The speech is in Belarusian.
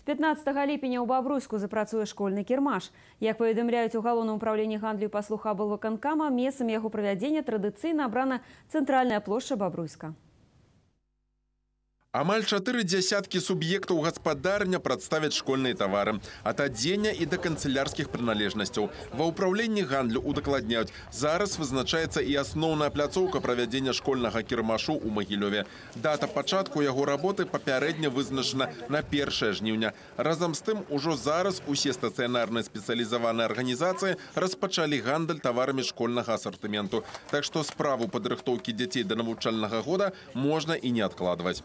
15 ліпеня ў Бабруйску запрацуе школьны кірмаш. Як паведамляюць у галоўным управленні гандлю і паслуг аблвыканкама, месцам яго правядзення традыцыйна абрана цэнтральная плошча Бабруйска. Амаль 4 десяткі суб'ектаў гаспадарня прадставяць школьныя тавары. Ад адзення і да канцылярскіх прыналежнасцяў. Ва ўпраўленні гандлю удакладняюць, зараз вызначаецца і асноўная пляцоўка правядзення школьнага кірмашу ў Магілёве. Дата пачатку яго работы папярэдне вызначана на 1 жніўня. Разам з тым, ужо зараз усе стацыянарныя спецыялізаваныя арганізацыі распачалі гандаль таварамі школьнага асартыменту. Так што справу падрыхтоўкі дзяцей да навучальнага года можна і не адкладваць.